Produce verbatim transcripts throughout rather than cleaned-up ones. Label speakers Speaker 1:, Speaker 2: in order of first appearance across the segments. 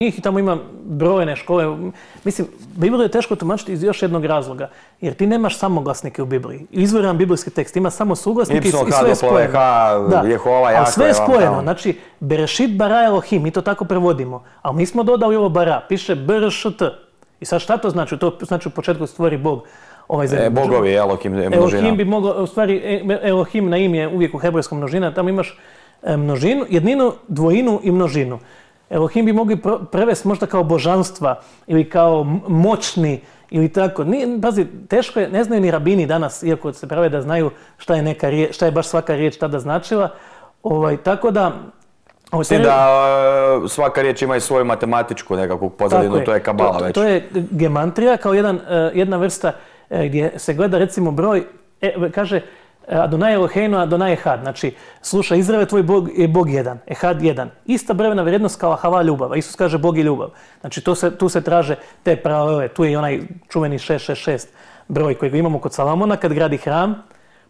Speaker 1: njih i tamo ima brojne škole. Mislim, Bibliju je teško tumačiti iz još jednog razloga, jer ti nemaš samoglasnike u Bibliji. Izvoran biblijski tekst ima samo suglasnike i sve je spojeno.
Speaker 2: Da, Jehova,
Speaker 1: ali sve je spojeno. Znači, Berešit bara Elohim, mi to tako prevodimo. Ali mi smo dodali ovo bara, piše B R Š T. I sad šta to znači? To znači u početku stvori Bog. Ovaj
Speaker 2: e, bogovi, Elohim, množina.
Speaker 1: Elohim bi mogao, u stvari, Elohim na ime je uvijek u hebrejskom množina, tamo imaš množinu, jedninu, dvojinu i množinu. Elohim bi mogli prevesti možda kao božanstva ili kao moćni ili tako. Nije, pazi, teško je, ne znaju ni rabini danas, iako se prave da znaju šta je, neka riječ, šta je baš svaka riječ tada značila. Ovaj, tako da...
Speaker 2: S tim da uh, svaka riječ ima i svoju matematičku nekakvu pozadinu, je. To je kabala
Speaker 1: to,
Speaker 2: već.
Speaker 1: To je gemantrija kao jedan, uh, jedna vrsta uh, gdje se gleda recimo broj, e, kaže Adonai Eloheinu, Adonai Ehad. Znači, slušaj, Izraele, tvoj Bog je Bog jedan, Ehad jedan. Ista brojevna vrijednost kao Hava ljubav, a Isus kaže Bog je ljubav. Znači, to se, tu se traže te paralele. Tu je i onaj čuveni šest šest šest broj koji imamo kod Salomona kad gradi hram,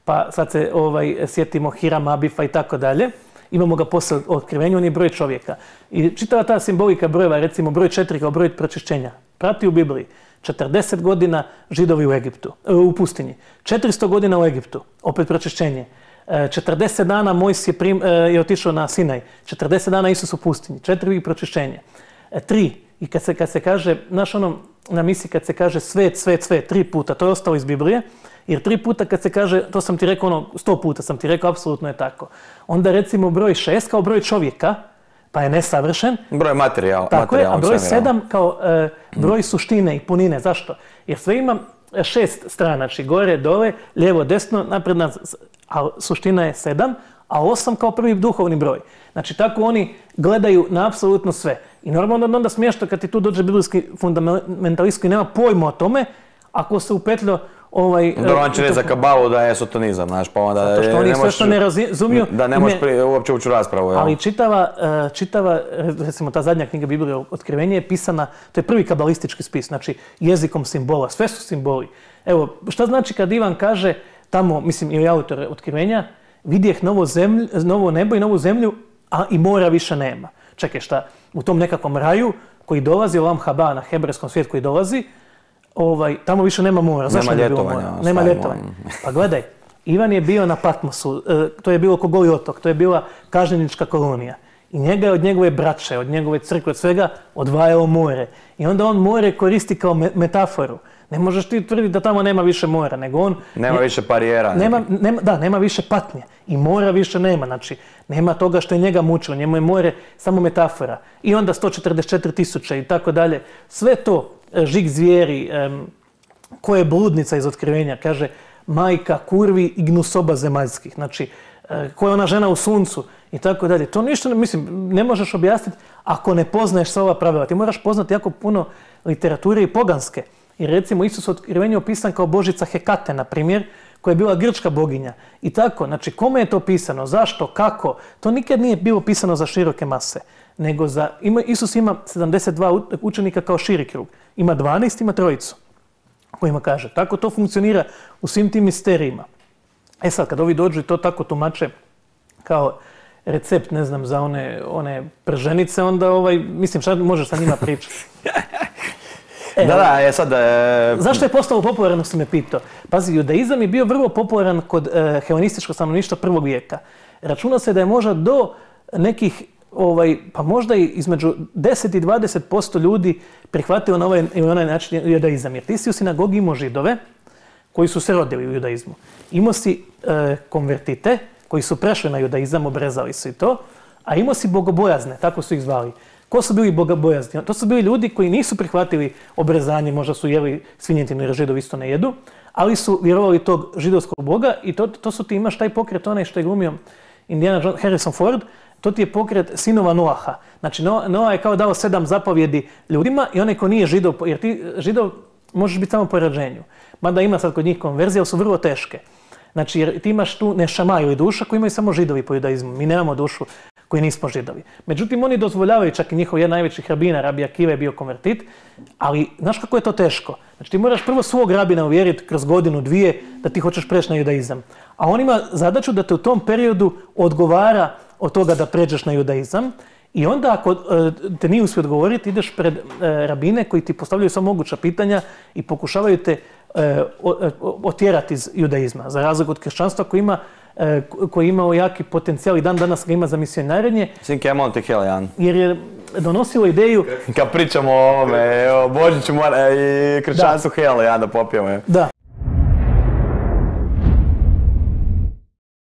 Speaker 1: pa sad se ovaj, sjetimo Hiram Abifa i tako dalje. Imamo ga posle otkrivenju, on je broj čovjeka. I čitava ta simbolika brojeva, recimo broj četiri kao broj pročišćenja, prati u Bibliji. četrdeset godina Židovi u Egiptu, u pustinji. četiristo godina u Egiptu, opet pročišćenje. četrdeset dana Mojs je, prim, je otišao na Sinaj. četrdeset dana Isus u pustinji. Četiri pročišćenje. Tri. I kad se, kad se kaže, znaš ono, na misiji kad se kaže svet, svet, svet, tri puta, to je ostalo iz Biblije. Jer tri puta kad se kaže, to sam ti rekao ono, sto puta sam ti rekao, apsolutno je tako. Onda recimo broj šest kao broj čovjeka, pa je nesavršen.
Speaker 2: Broj materijal.
Speaker 1: Tako je, a broj sedam kao e, broj suštine i punine. Zašto? Jer sve ima šest strana, znači gore, dole, lijevo, desno, napred, nazad, a suština je sedam, a osam kao prvi duhovni broj. Znači tako oni gledaju na apsolutno sve. I normalno onda smiješno kad ti tu dođe biblijski fundamentalist koji nema pojma o tome, ako se upetljo Ovaj,
Speaker 2: Dobro, on će reći za kabalu da je sotonizam, znaš, pa onda...
Speaker 1: Zato što oni sve što ne razumiju...
Speaker 2: Da ne možeš ne, uopće ući u raspravu.
Speaker 1: Ali čitava, čitava, recimo ta zadnja knjiga Biblije Otkrivenje je pisana, to je prvi kabalistički spis, znači jezikom simbola, sve su simboli. Evo, šta znači kad Ivan kaže tamo, mislim, ili autor Otkrivenja, vidjeh novo, zemlju, novo nebo i novu zemlju, a i mora više nema. Čekaj, šta, u tom nekakvom raju koji dolazi, Olam Haba, na hebrejskom svijetu koji dolazi, Ovaj, tamo više nema mora. Zašto
Speaker 2: nema
Speaker 1: ne bilo mora? Nema ljetovanja. Pa gledaj, Ivan je bio na Patmosu, to je bilo ko Goli otok, to je bila kažnjenička kolonija. I njega je od njegove braće, od njegove crkve, od svega odvajalo more. I onda on more koristi kao metaforu. Ne možeš ti tvrditi da tamo nema više mora, nego on...
Speaker 2: Nema ne, više barijera.
Speaker 1: Nema, nema, da, nema više patnje. I mora više nema. Znači, nema toga što je njega mučilo. Njemu je more samo metafora. I onda sto četrdeset četiri tisuće i tako dalje. Sve to, žig zvijeri, um, ko je bludnica iz Otkrivenja, kaže majka kurvi i gnusoba zemaljskih. Znači, uh, ko je ona žena u suncu i tako dalje. To ništa, mislim, ne možeš objasniti ako ne poznaješ sva ova pravila. Ti moraš poznati jako puno literature i poganske. I recimo Isus u Otkrivenju opisan kao božica Hekate, na primjer, koja je bila grčka boginja. I tako, znači kome je to pisano, zašto, kako, to nikad nije bilo pisano za široke mase. Nego za, ima, Isus ima sedamdeset dva učenika kao širi krug. Ima dvanaest, ima trojicu. Kojima kaže, tako to funkcionira u svim tim misterijima. E sad, kad ovi dođu i to tako tumače kao recept, ne znam, za one, one prženice, onda ovaj, mislim, šta možeš sa njima pričati?
Speaker 2: E, da, da, je sad... E...
Speaker 1: Zašto je postalo popularan, sam me pitao? Pazi, judaizam je bio vrlo popularan kod e, helenističkog stanovništva prvog vijeka. Računa se da je možda do nekih, ovaj, pa možda i između deset i dvadeset posto ljudi prihvatilo na ovaj ili onaj način judaizam. Jer ti si u sinagogi imao židove koji su se rodili u judaizmu. Imao si e, konvertite koji su prešli na judaizam, obrezali su i to, a imao si bogobojazne, tako su ih zvali. Ko su bili bogobojazni? To su bili ljudi koji nisu prihvatili obrezanje, možda su jeli svinjetinu jer Židovi isto ne jedu, ali su vjerovali tog židovskog boga i to, to su ti imaš taj pokret, onaj što je glumio Indiana John, Harrison Ford, to ti je pokret sinova Noaha. Znači Noah je kao dao sedam zapovjedi ljudima i onaj ko nije židov, jer ti židov možeš biti samo po rođenju. Mada ima sad kod njih konverzije, ali su vrlo teške. Znači jer ti imaš tu nešama ili duša koju imaju samo židovi po judaizmu. Mi nemamo dušu koji nismo židovi. Međutim, oni dozvoljavaju, čak i njihov jedan najvećih rabina, Rabi Akiva je bio konvertit, ali znaš kako je to teško? Znači ti moraš prvo svog rabina uvjeriti kroz godinu, dvije, da ti hoćeš preći na judaizam. A on ima zadaću da te u tom periodu odgovara od toga da pređeš na judaizam I onda ako te nije uspio odgovoriti, ideš pred rabine koji ti postavljaju sva moguća pitanja i pokušavaju te otjerati iz judaizma. Za razliku od kršćanstva koji ima koji je imao jaki potencijal i dan danas ga ima za misionarenje.
Speaker 2: Sinke, ja molim te htjela, Jan.
Speaker 1: Jer je donosilo ideju...
Speaker 2: Kad pričamo o ovome, o Božiću i kršćanstvu, htjela, Jan, da popijemo.
Speaker 1: Da.